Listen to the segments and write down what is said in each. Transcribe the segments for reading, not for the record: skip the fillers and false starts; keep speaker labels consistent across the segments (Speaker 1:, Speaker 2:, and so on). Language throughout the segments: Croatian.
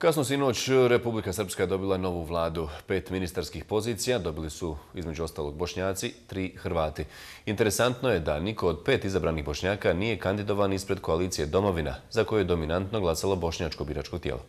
Speaker 1: Kasno sinoć Republika Srpska je dobila novu vladu. 5 ministarskih pozicija dobili su između ostalog Bošnjaci, 3 Hrvati. Interesantno je da niko od 5 izabranih Bošnjaka nije kandidovan ispred koalicije Domovina, za koju je dominantno glasalo bošnjačko biračko tijelo.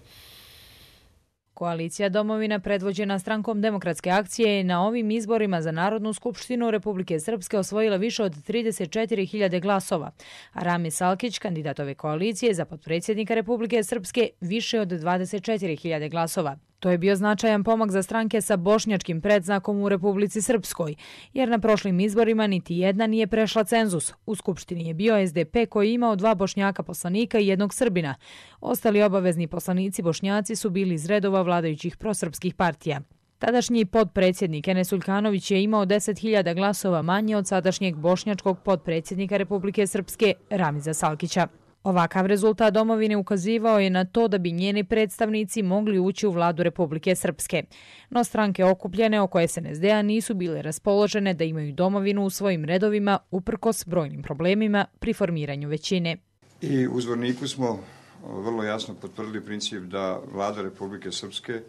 Speaker 2: Koalicija Domovina, predvođena Strankom demokratske akcije, je na ovim izborima za Narodnu skupštinu Republike Srpske osvojila više od 34.000 glasova, a Ramis Salkić, kandidat ove koalicije za potpredsjednika Republike Srpske, više od 24.000 glasova. To je bio značajan pomak za stranke sa bošnjačkim predznakom u Republici Srpskoj, jer na prošlim izborima niti jedna nije prešla cenzus. U Skupštini je bio SDP koji je imao 2 Bošnjaka poslanika i 1 Srbina. Ostali obavezni poslanici Bošnjaci su bili iz redova vladajućih prosrpskih partija. Tadašnji potpredsjednik Enes Uljkanović je imao 10.000 glasova manje od sadašnjeg bošnjačkog potpredsjednika Republike Srpske Ramiza Salkića. Ovakav rezultat Domovine ukazivao je na to da bi njeni predstavnici mogli ući u vladu Republike Srpske. No stranke okupljene oko SNSD-a nisu bile raspoložene da imaju Domovinu u svojim redovima uprkos brojnim problemima pri formiranju većine.
Speaker 3: I u Zvorniku smo vrlo jasno potvrdili princip da vlada Republike Srpske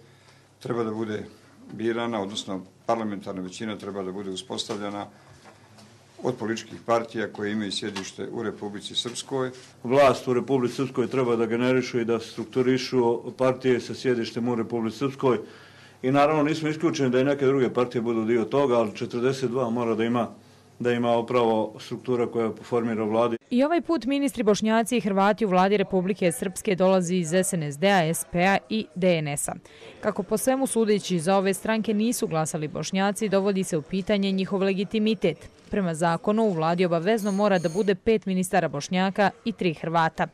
Speaker 3: treba da bude birana, odnosno parlamentarna većina treba da bude uspostavljena od političkih partija koje imaju sjedište u Republici Srpskoj.
Speaker 4: Vlast u Republici Srpskoj treba da generišu i da strukturišu partije sa sjedištem u Republici Srpskoj. I naravno nismo isključeni da i neke druge partije budu dio toga, ali 42 mora da ima upravo struktura koja formira vladi.
Speaker 2: I ovaj put ministri Bošnjaci i Hrvati u vladi Republike Srpske dolazi iz SNSD-a, SP-a i DNS-a. Kako po svemu sudeći za ove stranke nisu glasali Bošnjaci, dovodi se u pitanje njihov legitimitet. Prema zakonu u vladi obavezno mora da bude 5 ministara Bošnjaka i 3 Hrvata.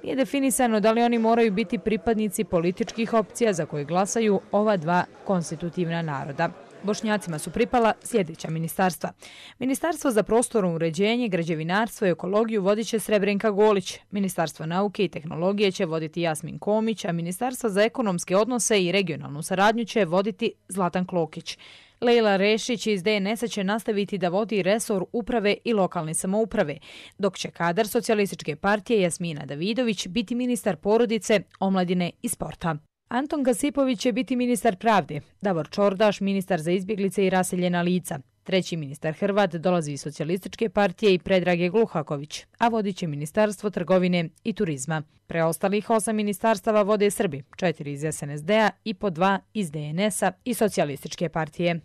Speaker 2: Nije definisano da li oni moraju biti pripadnici političkih opcija za koje glasaju ova 2 konstitutivna naroda. Bošnjacima su pripala sljedeća ministarstva. Ministarstvo za prostorno uređenje, građevinarstvo i ekologiju vodit će Srebrenka Golić. Ministarstvo nauke i tehnologije će voditi Jasmin Komić, a Ministarstvo za ekonomske odnose i regionalnu saradnju će voditi Zlatan Klokić. Lejla Rešić iz DNS-a će nastaviti da vodi resor uprave i lokalne samouprave, dok će kadar Socijalističke partije Jasmina Davidović biti ministar porodice, omladine i sporta. Anton Gasipović će biti ministar pravde, Davor Čordaš ministar za izbjeglice i raseljena lica. Treći ministar Hrvat dolazi iz Socijalističke partije i Predrage Gluhaković, a vodit će Ministarstvo trgovine i turizma. Preostalih 8 ministarstava vode Srbi, 4 iz SNSD-a i po 2 iz DNS-a i Socijalističke partije.